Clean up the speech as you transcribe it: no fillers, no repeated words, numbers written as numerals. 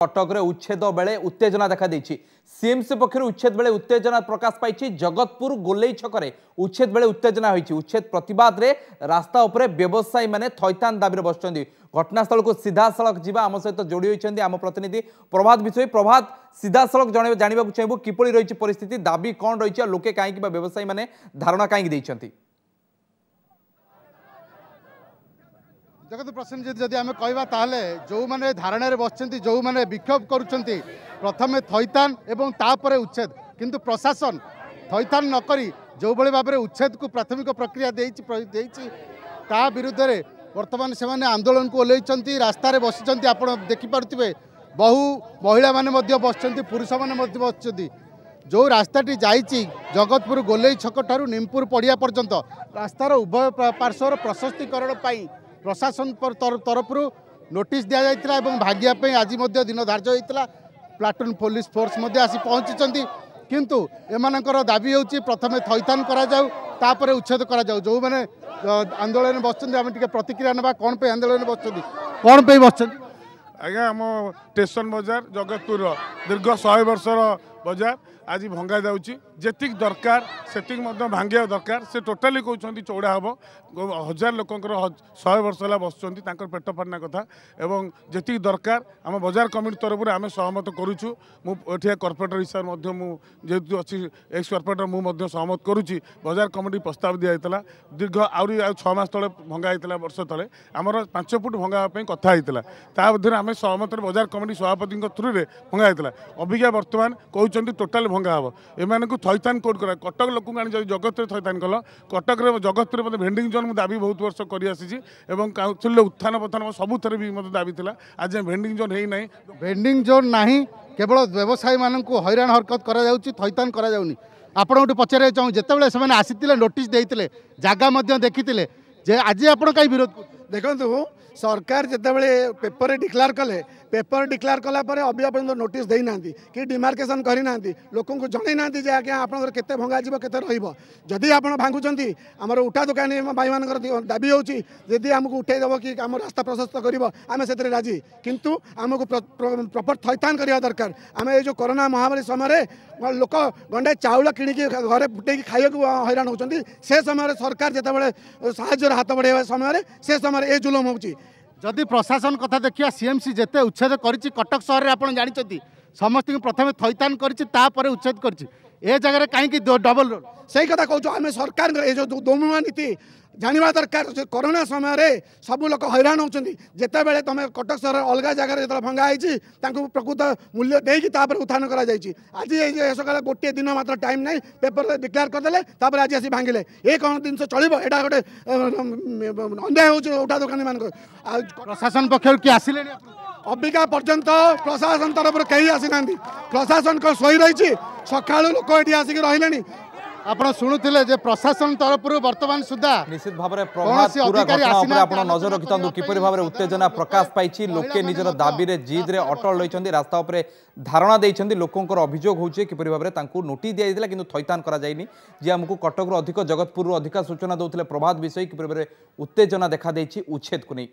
କଟକରେ ଉଚ୍ଛେଦ ବେଳେ ଉତ୍ତେଜନା ଦେଖାଦେଇଛି। ସିଏମସି ପକ୍ଷରୁ ଉଚ୍ଛେଦ ବେଳେ ଉତ୍ତେଜନା ପ୍ରକାଶ ପାଇଛି। ଜଗତପୁର ଗୋଲେଇ ଛକରେ ଉଚ୍ଛେଦ ବେଳେ ଉତ୍ତେଜନା ହୋଇଛି। ଉଚ୍ଛେଦ ପ୍ରତିବାଦରେ ରାସ୍ତା ଉପରେ ବ୍ୟବସାୟୀମାନେ ଥଇଥାନ ଦାବିରେ ବସିଛନ୍ତି। ଘଟଣାସ୍ଥଳକୁ ସିଧାସଳଖ ଯିବା, ଆମ ସହିତ ଯୋଡ଼ି ହୋଇଛନ୍ତି ଆମ ପ୍ରତିନିଧି ପ୍ରଭାତ ବିଷୋୟୀ। ପ୍ରଭାତ, ସିଧାସଳଖ ଜାଣିବାକୁ ଚାହିଁବୁ କିପରି ରହିଛି ପରିସ୍ଥିତି, ଦାବି କ'ଣ ରହିଛି ଆଉ ଲୋକେ କାହିଁକି ବା ବ୍ୟବସାୟୀମାନେ ଧାରଣା କାହିଁକି ଦେଇଛନ୍ତି? ଦେଖନ୍ତୁ ପ୍ରସନ୍ନଜିତ, ଯଦି ଆମେ କହିବା ତାହେଲେ ଯେଉଁମାନେ ଧାରଣାରେ ବସିଛନ୍ତି, ଯେଉଁମାନେ ବିକ୍ଷୋଭ କରୁଛନ୍ତି, ପ୍ରଥମେ ଥଇଥାନ ଏବଂ ତାପରେ ଉଚ୍ଛେଦ। କିନ୍ତୁ ପ୍ରଶାସନ ଥଇଥାନ ନକରି ଯେଉଁଭଳି ଭାବରେ ଉଚ୍ଛେଦକୁ ପ୍ରାଥମିକ ପ୍ରକ୍ରିୟା ଦେଇଛି, ତା ବିରୁଦ୍ଧରେ ବର୍ତ୍ତମାନ ସେମାନେ ଆନ୍ଦୋଳନକୁ ଓହ୍ଲାଇଛନ୍ତି, ରାସ୍ତାରେ ବସିଛନ୍ତି। ଆପଣ ଦେଖିପାରୁଥିବେ ବହୁ ମହିଳାମାନେ ମଧ୍ୟ ବସିଛନ୍ତି, ପୁରୁଷମାନେ ମଧ୍ୟ ବସିଛନ୍ତି। ଯେଉଁ ରାସ୍ତାଟି ଯାଇଛି ଜଗତପୁର ଗୋଲେଇ ଛକଠାରୁ ନିମପୁର ପଡ଼ିଆ ପର୍ଯ୍ୟନ୍ତ, ରାସ୍ତାର ଉଭୟ ପାର୍ଶ୍ୱର ପ୍ରଶସ୍ତିକରଣ ପାଇଁ ପ୍ରଶାସନ ତରଫରୁ ନୋଟିସ୍ ଦିଆଯାଇଥିଲା ଏବଂ ଭାଙ୍ଗିବା ପାଇଁ ଆଜି ମଧ୍ୟ ଦିନ ଧାର୍ଯ୍ୟ ହୋଇଥିଲା। ପ୍ଲାଟୁନ୍ ପୋଲିସ ଫୋର୍ସ ମଧ୍ୟ ଆସି ପହଞ୍ଚିଛନ୍ତି। କିନ୍ତୁ ଏମାନଙ୍କର ଦାବି ହେଉଛି ପ୍ରଥମେ ଥଇଥାନ କରାଯାଉ, ତାପରେ ଉଚ୍ଛେଦ କରାଯାଉ। ଯେଉଁମାନେ ଆନ୍ଦୋଳନରେ ବସିଛନ୍ତି, ଆମେ ଟିକେ ପ୍ରତିକ୍ରିୟା ନେବା। କ'ଣ ପାଇଁ ଆନ୍ଦୋଳନରେ ବସିଛନ୍ତି, କ'ଣ ପାଇଁ ବସିଛନ୍ତି? ଆଜ୍ଞା, ଆମ ଷ୍ଟେସନ ବଜାର ଜଗତପୁରର ଦୀର୍ଘ 100 ବର୍ଷର ବଜାର ଆଜି ଭଙ୍ଗା ଯାଉଛି। ଯେତିକି ଦରକାର ସେତିକି ମଧ୍ୟ ଭାଙ୍ଗିବା ଦରକାର। ସେ ଟୋଟାଲି କହୁଛନ୍ତି ଚଉଡ଼ା ହେବ। ହଜାର ଲୋକଙ୍କର 100 ବର୍ଷ ହେଲା ବସୁଛନ୍ତି, ତାଙ୍କର ପେଟ ପାଟଣା କଥା। ଏବଂ ଯେତିକି ଦରକାର ଆମ ବଜାର କମିଟି ତରଫରୁ ଆମେ ସହମତ କରୁଛୁ। ମୁଁ ଏଠିକା କର୍ପୋରେଟର ହିସାବରେ ମଧ୍ୟ, ମୁଁ ଯେହେତୁ ଅଛି ଏକ୍ସ କର୍ପୋରେଟର, ମୁଁ ମଧ୍ୟ ସହମତ କରୁଛି। ବଜାର କମିଟି ପ୍ରସ୍ତାବ ଦିଆଯାଇଥିଲା ଦୀର୍ଘ ଆହୁରି ଆଉ 6 ମାସ ତଳେ ଭଙ୍ଗା ହେଇଥିଲା। ବର୍ଷ ତଳେ ଆମର 5 ଫୁଟ ଭଙ୍ଗା ହେବା ପାଇଁ କଥା ହେଇଥିଲା। ତା ମଧ୍ୟରେ ଆମେ ସହମତରେ ବଜାର କମିଟି ସଭାପତିଙ୍କ ଥ୍ରୁରେ ଭଙ୍ଗା ହେଇଥିଲା। ଅବିକା ବର୍ତ୍ତମାନ କହୁଛନ୍ତି ଟୋଟାଲ ଭଙ୍ଗା ହେବ। ଏମାନଙ୍କୁ ଥଇଥାନ କୋର୍ଟ କରା, କଟକ ଲୋକଙ୍କୁ ଆଣି ଯଦି ଜଗତରେ ଥଇଥାନ କଲ, କଟକରେ ଜଗତରେ ମଧ୍ୟ ଭେଣ୍ଡିଂ ଜୋନ୍ ମୁଁ ଦାବି ବହୁତ ବର୍ଷ କରିଆସିଛି ଏବଂ କାଉନସିଲରେ ଉତ୍ଥାନ ପତନ ସବୁଥିରେ ବି ମୋତେ ଦାବି ଥିଲା। ଆଜି ଭେଣ୍ଡିଂ ଜୋନ୍ ହେଇନାହିଁ, ଭେଣ୍ଡିଂ ଜୋନ୍ ନାହିଁ, କେବଳ ବ୍ୟବସାୟୀମାନଙ୍କୁ ହଇରାଣ ହରକତ କରାଯାଉଛି, ଥଇଥାନ କରାଯାଉନି। ଆପଣଙ୍କଠୁ ପଚାରିବାକୁ ଚାହୁଁ, ଯେତେବେଳେ ସେମାନେ ଆସିଥିଲେ, ନୋଟିସ୍ ଦେଇଥିଲେ, ଜାଗା ମଧ୍ୟ ଦେଖିଥିଲେ, ଯେ ଆଜି ଆପଣ କାହିଁ ବିରୋଧ କରୁଛନ୍ତି? ଦେଖନ୍ତୁ, ସରକାର ଯେତେବେଳେ ପେପରରେ ଡିକ୍ଲାର କଲେ, ପେପର ଡିକ୍ଲାର କଲା ପରେ ଅବିକା ପର୍ଯ୍ୟନ୍ତ ନୋଟିସ୍ ଦେଇନାହାନ୍ତି କି ଡିମାର୍କେସନ୍ କରିନାହାନ୍ତି, ଲୋକଙ୍କୁ ଜଣେଇ ନାହାନ୍ତି ଯେ ଆଜ୍ଞା ଆପଣଙ୍କର କେତେ ଭଙ୍ଗାଯିବ, କେତେ ରହିବ। ଯଦି ଆପଣ ଭାଙ୍ଗୁଛନ୍ତି, ଆମର ଉଠା ଦୋକାନୀ ଭାଇମାନଙ୍କର ଦାବି ହେଉଛି, ଯଦି ଆମକୁ ଉଠେଇ ଦେବ କି ଆମ ରାସ୍ତା ପ୍ରଶସ୍ତ କରିବ, ଆମେ ସେଥିରେ ରାଜି। କିନ୍ତୁ ଆମକୁ ପ୍ରପର ଥଇଥାନ କରିବା ଦରକାର। ଆମେ ଏଇ ଯେଉଁ କରୋନା ମହାମାରୀ ସମୟରେ ଲୋକ ଗଣ୍ଡେ ଚାଉଳ କିଣିକି ଘରେ ଫୁଟେଇକି ଖାଇବାକୁ ହଇରାଣ ହେଉଛନ୍ତି, ସେ ସମୟରେ ସରକାର ଯେତେବେଳେ ସାହାଯ୍ୟର ହାତ ବଢ଼ାଇବା ସମୟରେ, ସେ ସମୟରେ ଏ ଜୁଲମ ହେଉଛି। ଯଦି ପ୍ରଶାସନ କଥା ଦେଖିବା, ସିଏମସି ଯେତେ ଉଚ୍ଛେଦ କରିଛି କଟକ ସହରରେ, ଆପଣ ଜାଣିଛନ୍ତି, ସମସ୍ତଙ୍କୁ ପ୍ରଥମେ ଥଇଥାନ କରିଛି, ତାପରେ ଉଚ୍ଛେଦ କରିଛି। ଏ ଜାଗାରେ କାହିଁକି ଡବଲ ରୋଲ? ସେଇ କଥା କହୁଛୁ ଆମେ। ସରକାରଙ୍କର ଏ ଯେଉଁ ଦୋମୁହାଁ ନୀତି ଜାଣିବା ଦରକାର ଯେ କରୋନା ସମୟରେ ସବୁ ଲୋକ ହଇରାଣ ହେଉଛନ୍ତି। ଯେତେବେଳେ ତୁମେ କଟକ ସହର ଅଲଗା ଜାଗାରେ ଯେତେବେଳେ ଭଙ୍ଗା ହେଇଛି, ତାଙ୍କୁ ପ୍ରକୃତ ମୂଲ୍ୟ ଦେଇକି ତାପରେ ଉତ୍ଥାନ କରାଯାଇଛି। ଆଜି ଏଇ ସକାଳେ ଗୋଟିଏ ଦିନ ମାତ୍ର ଟାଇମ୍ ନାହିଁ, ପେପରରେ ଡିକ୍ଲେୟାର କରିଦେଲେ, ତାପରେ ଆଜି ଆସି ଭାଙ୍ଗିଲେ। ଏ କ'ଣ ଜିନିଷ ଚଳିବ? ଏଇଟା ଗୋଟେ ଅନ୍ୟାୟ ହେଉଛି ଉଠା ଦୋକାନୀମାନଙ୍କର। ଆଉ ପ୍ରଶାସନ ପକ୍ଷରୁ କିଏ ଆସିଲେଣି? ଅବିକା ପର୍ଯ୍ୟନ୍ତ ପ୍ରଶାସନ ତରଫରୁ କେହି ଆସିନାହାନ୍ତି। ପ୍ରଶାସନ କ'ଣ ଶୋଇ ରହିଛି? ସକାଳୁ ଲୋକ ଏଠି ଆସିକି ରହିଲେଣି। ଆପଣ ଶୁଣୁଥିଲେ ଯେ ପ୍ରଶାସନ ତରଫରୁ ବର୍ତ୍ତମାନ ସୁଦ୍ଧା ନିଶ୍ଚିତ ଭାବରେ କୌଣସି ଅଧିକାରୀ ଆସିନାହାନ୍ତି। ଆପଣ ନଜର ରଖିଥାନ୍ତୁ କିପରି ଭାବରେ ଉତ୍ତେଜନା ପ୍ରକାଶ ପାଇଛି। ଲୋକେ ନିଜର ଦାବିରେ ଜିଦ୍ରେ ଅଟଳ ରହିଛନ୍ତି, ରାସ୍ତା ଉପରେ ଧାରଣା ଦେଇଛନ୍ତି। ଲୋକଙ୍କର ଅଭିଯୋଗ ହେଉଛି କିପରି ଭାବରେ ତାଙ୍କୁ ନୋଟିସ୍ ଦିଆଯାଇଥିଲା କିନ୍ତୁ ଥଇଥାନ କରାଯାଇନି। ଯିଏ ଆମକୁ କଟକରୁ ଅଧିକ, ଜଗତପୁରରୁ ଅଧିକ ସୂଚନା ଦେଉଥିଲେ ପ୍ରଭାତ ବିଷୋୟୀ, କିପରି ଭାବରେ ଉତ୍ତେଜନା ଦେଖାଦେଇଛି ଉଚ୍ଛେଦକୁ ନେଇ।